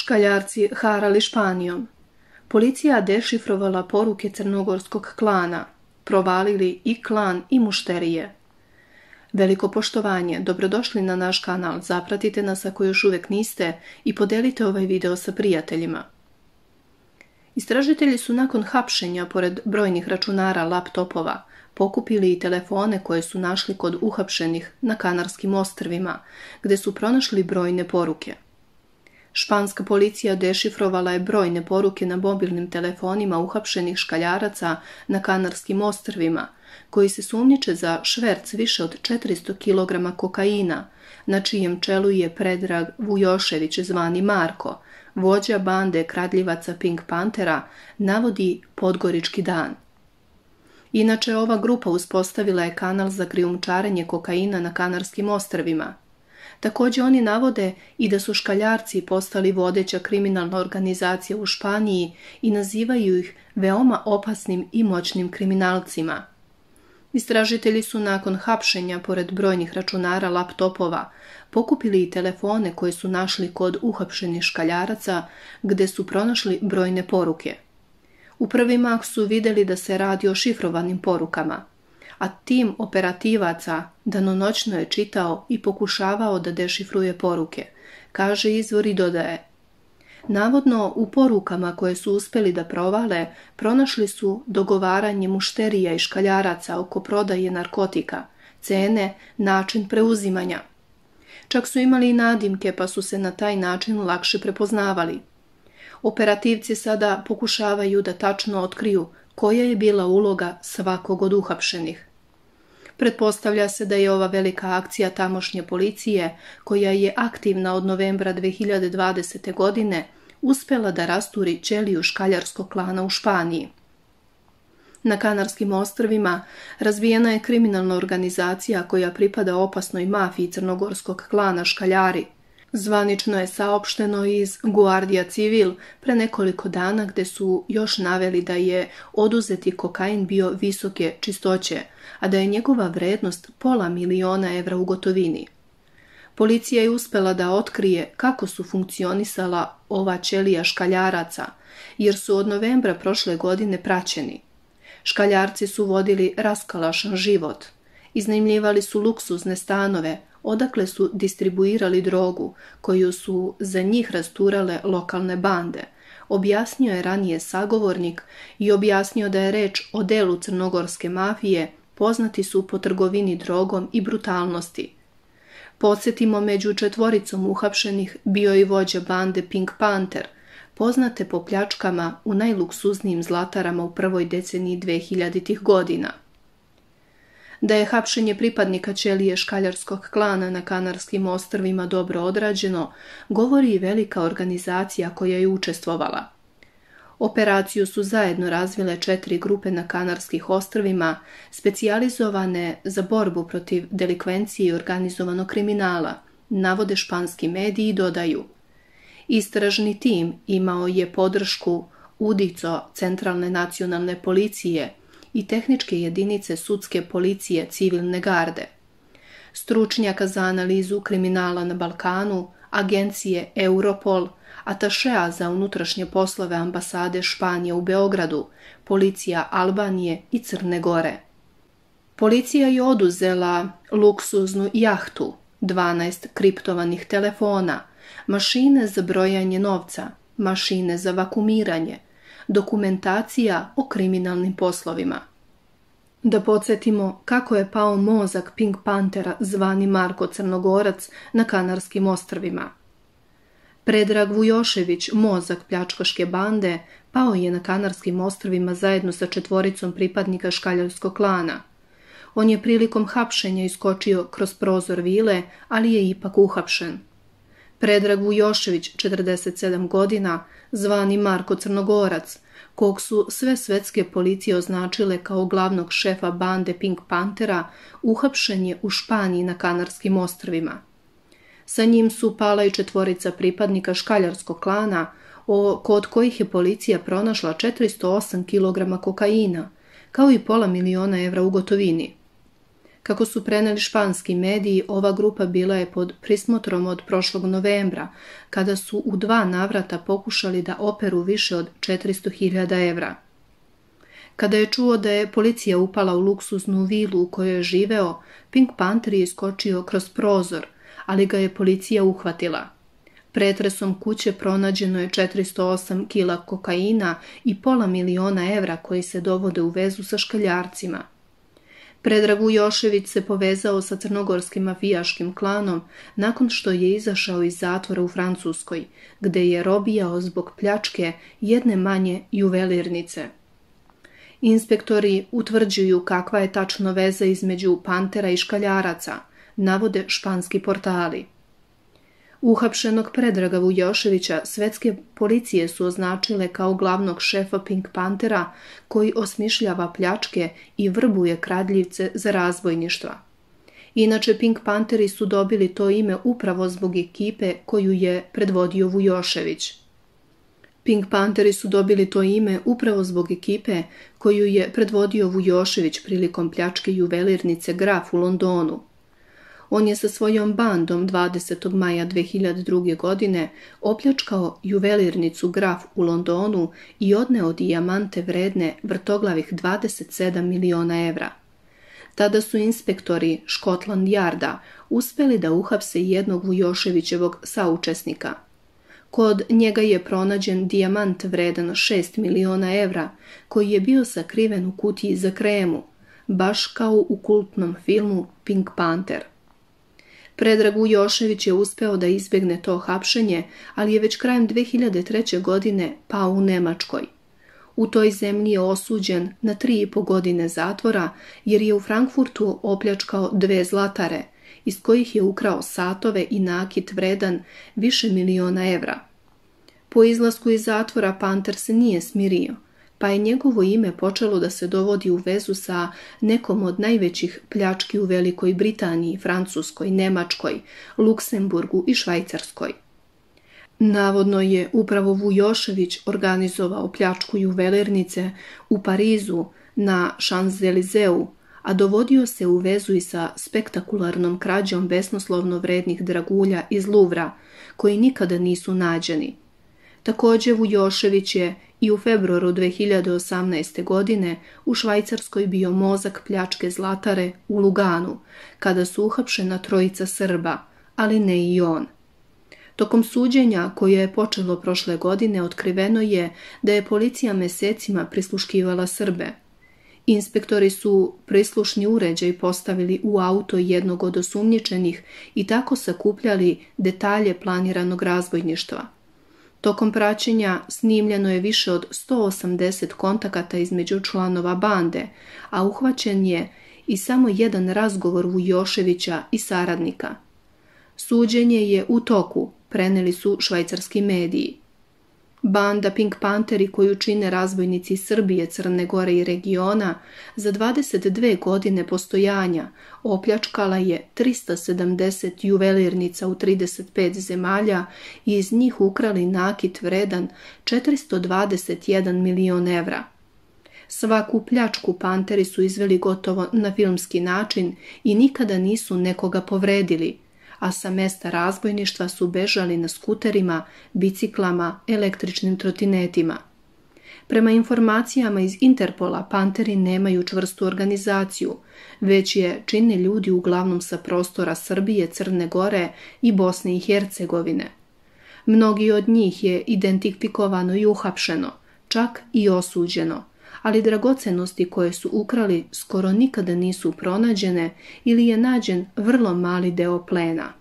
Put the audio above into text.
Škaljarci harali Španijom. Policija dešifrovala poruke crnogorskog klana. Provalili i klan i mušterije. Veliko poštovanje, dobrodošli na naš kanal, zapratite nas ako još uvijek niste i podelite ovaj video sa prijateljima. Istražitelji su nakon hapšenja, pored brojnih računara, laptopova, pokupili i telefone koje su našli kod uhapšenih na Kanarskim ostrvima, gdje su pronašli brojne poruke. Španska policija dešifrovala je brojne poruke na mobilnim telefonima uhapšenih škaljaraca na Kanarskim ostrvima, koji se sumnjiče za šverc više od 400 kg kokaina, na čijem čelu je Predrag Vujošević zvani Marko, vođa bande kradljivaca Pink Panthera, navodi Podgorički dan. Inače, ova grupa uspostavila je kanal za krijumčarenje kokaina na Kanarskim ostrvima. Također oni navode i da su škaljarci postali vodeća kriminalna organizacija u Španiji i nazivaju ih veoma opasnim i moćnim kriminalcima. Istražitelji su nakon hapšenja, pored brojnih računara, laptopova, pokupili i telefone koje su našli kod uhapšenih škaljaraca, gdje su pronašli brojne poruke. U prvi mah su vidjeli da se radi o šifrovanim porukama, a tim operativaca danonoćno je čitao i pokušavao da dešifruje poruke, kaže izvor i dodaje. Navodno, u porukama koje su uspjeli da provale, pronašli su dogovaranje mušterija i škaljaraca oko prodaje narkotika, cene, način preuzimanja. Čak su imali i nadimke, pa su se na taj način lakše prepoznavali. Operativci sada pokušavaju da tačno otkriju koja je bila uloga svakog od uhapšenih. Pretpostavlja se da je ova velika akcija tamošnje policije, koja je aktivna od novembra 2020. godine, uspjela da rasturi ćeliju škaljarskog klana u Španiji. Na Kanarskim ostrvima razvijena je kriminalna organizacija koja pripada opasnoj mafiji crnogorskog klana Škaljari. Zvanično je saopšteno iz Guardia Civil pre nekoliko dana, gdje su još naveli da je oduzeti kokain bio visoke čistoće, a da je njegova vrednost $500.000 u gotovini. Policija je uspjela da otkrije kako su funkcionisala ova ćelija škaljaraca, jer su od novembra prošle godine praćeni. Škaljarci su vodili raskalašan život. Iznajmljivali su luksuzne stanove, odakle su distribuirali drogu, koju su za njih rasturale lokalne bande, objasnio je ranije sagovornik i objasnio da je reč o delu crnogorske mafije, poznati su po trgovini drogom i brutalnosti. Podsjetimo, među četvoricom uhapšenih bio i vođa bande Pink Panther, poznate po pljačkama u najluksuznijim zlatarama u prvoj deceniji 2000-ih godina. Da je hapšenje pripadnika ćelije škaljarskog klana na Kanarskim ostrvima dobro odrađeno, govori i velika organizacija koja je učestvovala. Operaciju su zajedno razvile 4 grupe na Kanarskih ostrvima, specijalizovane za borbu protiv delikvencije i organizovanog kriminala, navode španski mediji i dodaju. Istražni tim imao je podršku UDICO, Centralne nacionalne policije, i tehničke jedinice sudske policije civilne garde, stručnjaka za analizu kriminala na Balkanu, agencije Europol, atašea za unutrašnje poslove ambasade Španije u Beogradu, policija Albanije i Crne Gore. Policija je oduzela luksuznu jahtu, 12 kriptovanih telefona, mašine za brojanje novca, mašine za vakumiranje, dokumentacija o kriminalnim poslovima. Da podsjetimo kako je pao mozak Pink Panthera zvani Marko Crnogorac na Kanarskim ostrvima. Predrag Vujošević, mozak pljačkaške bande, pao je na Kanarskim ostrvima zajedno sa 4 pripadnika škaljarskog klana. On je prilikom hapšenja iskočio kroz prozor vile, ali je ipak uhapšen. Predrag Vujošević, 47 godina, zvani Marko Crnogorac, kog su sve svetske policije označile kao glavnog šefa bande Pink Panthera, uhapšen je u Španiji na Kanarskim ostrvima. Sa njim su pala i 4 pripadnika škaljarskog klana, kod kojih je policija pronašla 408 kg kokaina, kao i $500.000 u gotovini. Kako su preneli španski mediji, ova grupa bila je pod prismotrom od prošlog novembra, kada su u 2 navrata pokušali da operu više od 400.000 evra. Kada je čuo da je policija upala u luksuznu vilu u kojoj je živeo, Pink Panther je iskočio kroz prozor, ali ga je policija uhvatila. Pretresom kuće pronađeno je 408 kila kokaina i pola miliona evra koji se dovode u vezu sa škaljarcima. Predrag Vujošević se povezao sa crnogorskim mafijaškim klanom nakon što je izašao iz zatvora u Francuskoj, gde je robijao zbog pljačke jedne manje juvelirnice. Inspektori utvrđuju kakva je tačno veza između Pantera i škaljaraca, navode španski portali. Uhapšenog Predraga Vujoševića svetske policije su označile kao glavnog šefa Pink Panthera koji osmišljava pljačke i vrbuje kradljivce za razbojništva. Inače, Pink Pantheri su dobili to ime upravo zbog ekipe koju je predvodio Vujošević. Pink Pantheri su dobili to ime upravo zbog ekipe koju je predvodio Vujošević prilikom pljačke juvelirnice Graf u Londonu. On je sa svojom bandom 20. maja 2002. godine opljačkao juvelirnicu Graf u Londonu i odneo dijamante vredne vrtoglavih 27 miliona evra. Tada su inspektori Scotland Yarda uspeli da uhapse jednog Vujoševićevog saučesnika. Kod njega je pronađen dijamant vredan 6 miliona evra koji je bio sakriven u kutiji za kremu, baš kao u kultnom filmu Pink Panther. Predrag Vujošević je uspeo da izbjegne to hapšenje, ali je već krajem 2003. godine pao u Nemačkoj. U toj zemlji je osuđen na 3,5 godine zatvora jer je u Frankfurtu opljačkao 2 zlatare, iz kojih je ukrao satove i nakit vredan više miliona evra. Po izlasku iz zatvora Panther se nije smirio, pa je njegovo ime počelo da se dovodi u vezu sa nekom od najvećih pljački u Velikoj Britaniji, Francuskoj, Nemačkoj, Luksemburgu i Švajcarskoj. Navodno je upravo Vujošević organizovao pljačku juvelirnice u Parizu na Champs-Élysées, a dovodio se u vezu i sa spektakularnom krađom besnoslovno vrednih dragulja iz Louvra, koji nikada nisu nađeni. Također Vujošević je i u februaru 2018. godine u Švajcarskoj bio mozak pljačke zlatare u Luganu, kada su uhapšena 3 Srba, ali ne i on. Tokom suđenja, koje je počelo prošle godine, otkriveno je da je policija mesecima prisluškivala Srbe. Inspektori su prislušni uređaj postavili u auto jednog od osumnjičenih i tako sakupljali detalje planiranog razbojništva. Tokom praćenja snimljeno je više od 180 kontakata između članova bande, a uhvaćen je i samo jedan razgovor Vujoševića i saradnika. Suđenje je u toku, preneli su švajcarski mediji. Banda Pink Pantheri koju čine razbojnici Srbije, Crne Gore i regiona za 22 godine postojanja opljačkala je 370 juvelirnica u 35 zemalja i iz njih ukrali nakit vredan 421 milion evra. Svaku pljačku Panteri su izveli gotovo na filmski način i nikada nisu nekoga povredili, a sa mesta razbojništva su bežali na skuterima, biciklama, električnim trotinetima. Prema informacijama iz Interpola, Panteri nemaju čvrstu organizaciju, već je čine ljudi uglavnom sa prostora Srbije, Crne Gore i Bosne i Hercegovine. Mnogi od njih je identifikovano i uhapšeno, čak i osuđeno, ali dragocenosti koje su ukrali skoro nikada nisu pronađene ili je nađen vrlo mali deo plena.